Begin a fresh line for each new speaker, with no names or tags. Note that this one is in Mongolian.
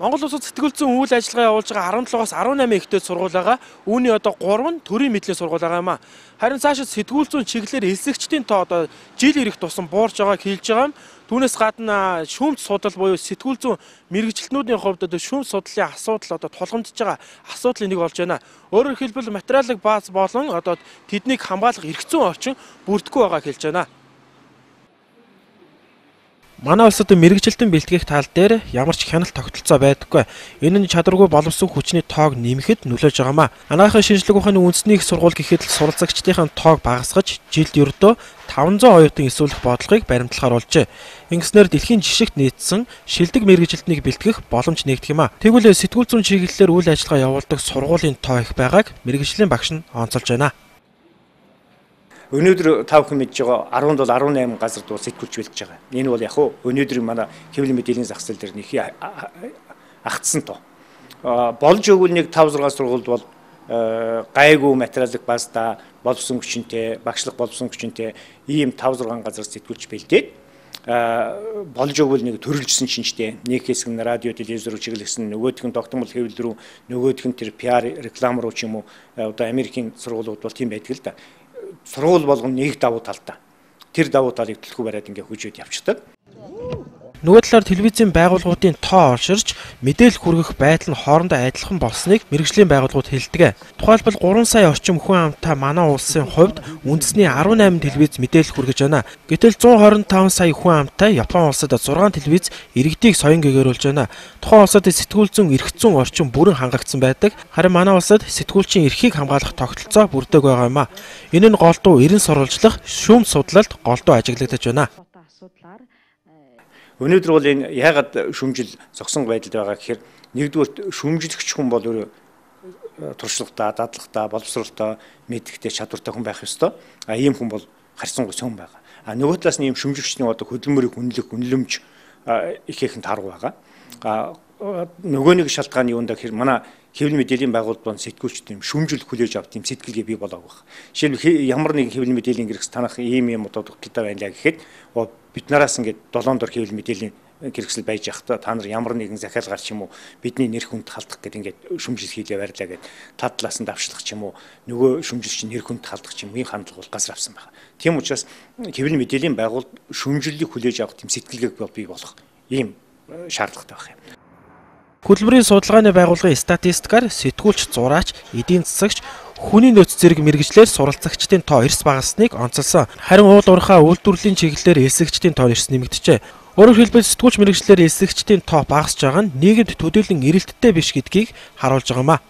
Монгол улсад сэтгэл зүйн үйл ажиллагаа явуулж байгаа 17-аас 18 ихтэй сургууль байгаа. Үүний одоо 3 нь төрийн мэдлийн сургууль байгаа юм а. Харин цаашид сэтгүүл зүйн чиглэлээр эсэгчдийн тоо одоо жил ирэх тусам буурж байгааг хэлж байгаа юм. Түүнээс гадна шүүмж судал буюу сэтгүүл зүйн мэрэгжилтнүүдийн хувьд одоо шүүмж судлалын асуудал одоо тулгамдж байгаа асуудлын нэг болж байна. Өөрөөр хэлбэл материалын бааз болон одоо тэднийг хамгаалах эрх зүйн орчин бүрдэхгүй байгааг хэлж байна. Манай улсад мэрэгжилтэн бэлтгэх тал дээр ямар ч хяналт тогтолцоо байдаггүй. Энэ нь чадваргүй боловсон хүчний тоог нэмэхэд нөлөөж байгаамаа. Анагаахын шинжлэх ухааны үндэсний их сургууль гэхэд л суралцагчдын тоог багасгаж жилд ердөө 500 оюутан эсвэлэх бодлогыг баримтлахаар болжээ. Ингэснээр дэлхийн жишгт нийцсэн шилдэг мэрэгжилтнийг бэлтгэх боломж нэгдэх юм а. Тэгвэл сэтгүүл зүйн чиглэлээр үйл ажиллагаа явуулдаг сургуулийн тоо их байгааг мэрэгжлийн багш нь онцолж байна.
Өнөөдөр та бүхэн мэдж байгаа 17-18 газард бол сэтгүүлч бэлтгэж байгаа. Энэ бол яг хөө өнөөдөр манай хэвлэл мэдээллийн зах зээл дээр нэхий агтсан тоо. Болж өгвөл нэг 5-6 сургуульд бол гайгүй материалын баазда боловсон хүчинтэй, багшлах боловсон хүчинтэй ийм 5-6 газар сэтгүүлч бэлдээд болж өгвөл нэг төрөлжсөн шинжтэй нэг хэсэг нь радио телевизээр чиглэсэн, нөгөөх нь тогтмол хэвлэл рүү, нөгөөх нь тэр PR реклам руу ч юм уу одоо Америкийн сургуулиуд бол тийм байдаг л да. Сургууль болгоно нэг давуу талтай. Тэр давуу талыг төлхөө бариад ингээ хүчээд явчихдаг.
Нөгөө талаар телевизийн байгууллагуудын тоо орширч мэдээлэл хүргэх байдал нь хоорондоо адилхан болсныг мэрэгжлийн байгууллагууд хэлдэг. Тухайлбал 3 сая орчим хүн амтай манай улсын хувьд үндэсний 18 телевиз мэдээлэл хүргэж байна. Гэтэл 125 сая хүн амтай Япон улсад 6 телевиз иргэдийг соён гэгэрүүлж байна. Тухайн улсад сэтгүүл зүйн эрх зүйн орчин бүрэн хангагдсан байдаг. Харин манай улсад сэтгүүлчийн эрхийг хамгаалах тогтолцоо бүрддэг байгаа юм а. Энэ нь голдуу эрен сурвалжлах, шүүмж судлалд голдуу ажиглагдаж байна.
Өнөөдөр бол энэ яагаад шүмжил зогсон байдалд байгаа гэхээр нэгдүгээр шүмжлэгч хүн бол өөрөө туршлагатай, дадлагатай, боловсролтой, мэдрэхтэй, чадвартай хүн байх ёстой. Ийм хүн бол харьцангуй цөөн байгаа. Нөгөө талаас нь ийм шүмжлэгчний одоо хөдөлмөрийг үнэлэмж ихээхэн таргу байгаа. Нөгөө нэг шалтгааны юунд гэхээр манай хэвлэл мэдээллийн байгууллагууд сэтгүүлчд юм шүмжил хүлээж авт юм сэтгэлгээ бий болоог байна. Жишээлбэл ямар нэг хэвлэл мэдээллийн гэрээс танах ийм одоо дутагдaltaй байна лаа гэхэд бид нараас ингээд 7 дор хэвлэл мэдээллийн гэрэгсэл байж явахдаа та нар ямар нэгэн захиалгаар ч юм уу бидний нэр хүнд халдах гэдэг ингээд шүмжил хийлээ барьлаа гэд та талаас нь давшлах ч юм уу нөгөө шүмжилч нэр хүнд халдах ч юм уу хандлага бол газар авсан байна. Тийм учраас хэвлэл мэдээллийн байгууллага шүмжиллийг хүлээж авах тийм сэтгэлгээг бий болох ийм шаардлагатай байх юм.
Хөтөлбөрийн судалгааны байгууллагын статистикаар сэтгүүлч, зураач, эдийн засагч, хүний нөөц зэрэг мэрэгжлэр суралцагчдын тоо эрс багасныг онцолсон. Харин уул уурхай үйлдвэрлэлийн чиглэлээр эсэгчдийн тоо эрс нэмэгдэжээ. Өөрөөр хэлбэл сэтгүүлч мэрэгжлэр эсэгчдийн тоо багасж байгаа нь нийгэмд төдийлөн эрэлттэй биш гэдгийг харуулж байгаа юм а.